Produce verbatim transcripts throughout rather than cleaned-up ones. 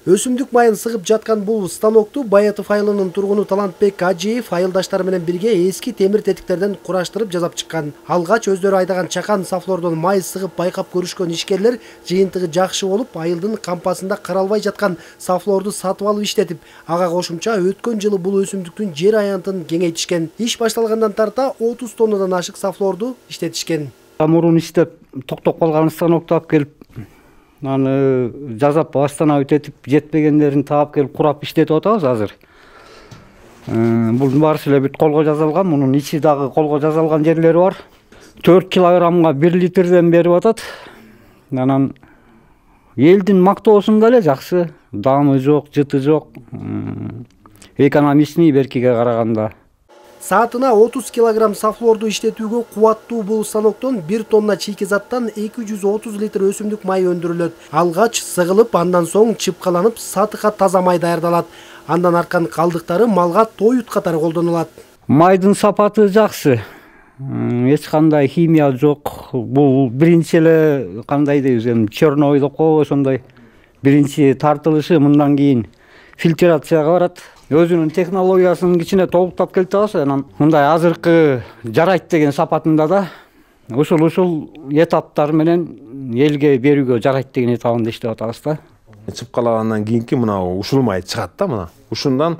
Өсүмдүк майын сыгып жаткан бул станокту Баятов айылынын тургуну Талантбек Ажиев айылдаштары менен бирге эски темир тетиктерден кураштырып жасап чыккан. Алгач өздөрү айдаган чакан сафлордон май сыгып байкап көрүшкөн ишкерлер жыйынтыгы жакшы болуп, айылдын кампасында каралбай жаткан сафлорду сатып алып иштетип, ага кошумча өткөн жылы бул өсүмдүктүн жер аянтын кеңейтишкен. Иш башталгандан тарта отуз тоннадан ашык сафлорду иштетишкен. Мурун иштеп токтоп калган станокту алып келип, аны жазап восстановить этип, жетпегендерин таап келип курап иштетип атабыз азыр. Бул баарысы эле бүт колго жазалган, мунун ичи дагы колго жазалган жерлери бар. төрт килограммга бир литрден берип атат. Анан элдин мактоосунда эле жакшы, даамы жок, жыты жок. Экономичный беркиге караганда. Саатына отуз килограмм сафлорду иштетүүгө кубаттуу бул станоктон бир тонна чийкизаттан эки жүз отуз литр өсүмдүк май өндүрүлөт. Алгач сыгылып, андан соң чыпкаланып, сатыкка таза май даярдалат. Андан арткан калдыктары малга тоют катары колдонулат. Майдын сапаты жакшы. Эч кандай химия жок. Бул биринчи эле кандай дейбиз, эми черновой деп коебу, ошондой биринчи тартылышы, мындан кийин фильтрацияга барат. Өзүнүн технологиясын кичине толуктап келтирабыз. Анан мындай азыркы жарайт деген сапатында да ушул ушул этаптар менен элге берүүгө жарайт деген этабында иштеп атабыз да. Чыпкалагандан кийинки мына ушул май чыгат да, мына. Ушундан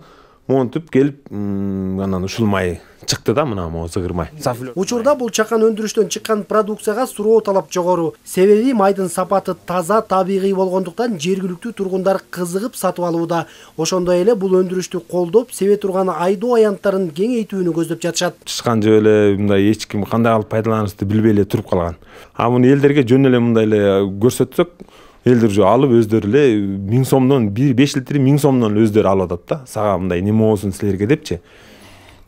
монтуп келип, анан ушул май чыкты да, мына могу зыгыр май. Учурда бул чакан өндүрүштөн чыккан продукцияга суроо талап жогору. Себеби майдын сапаты таза, табигый болгондуктан жергиликтүү тургундар кызыгып сатып алууда. Ошондой эле бул өндүрүштү колдоп, себе турган айдоо аянттарын кеңейтүүнү көздөп жатышат. Чыккан жөө эле мындай эч ким кандай алып пайдаланышты билбей эле туруп калган. А муну элдерге жөн эле мындай эле көрсөтсөк, элдер жөө алып өздөрү эле миң сомдон беш литр миң сомдон өздөрү алып атат да. Сага мындай неме болсун силерге депчи.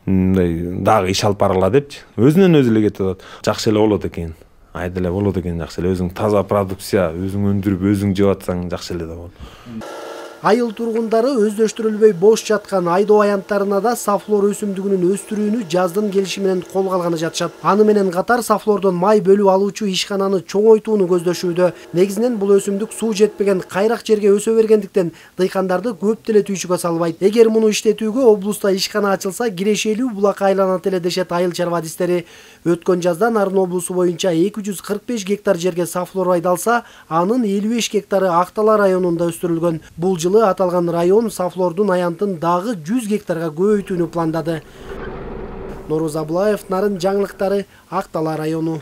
Мындай дагы иш алып барала депчи. Өзүнөн өзү эле кетип атат. Жакшы эле болот экен. Айда эле болот экен, жакшы эле. Өзүң таза продукция, өзүң өндүрүп, өзүң жеп атсаң жакшы эле да болот. Айыл тургундары өздөштүрүлбөй бош жаткан айдоо аянттарына да сафлор өсүмдүгүнүн өстүрүүнү жаздын келиши менен колго алганы жатышат. Аны менен катар сафлордон май бөлүп алуучу ишкананы чоңойтууну көздөшүүдө. Негизинен бул өсүмдүк суу жетпеген кайрак жерге өсө бергендиктен дыйкандарды көп деле түйшүккө салбайт. Эгер муну иштетүүгө облуста ишкана ачылса, кирешелүү булакка айланат эле дешет айыл чарбадистери. Өткөн жазда Нарын облусу боюнча эки жүз кырк беш гектар жерге сафлор айдалса, анын элүү беш гектары Актала районунда өстүрүлгөн. Бул жылы аталган район сафлордун аянтын дагы жүз гектарга көбөйтүүнү пландады. Нооруз Абылаев, Нарын жаңылыктары, Актала району.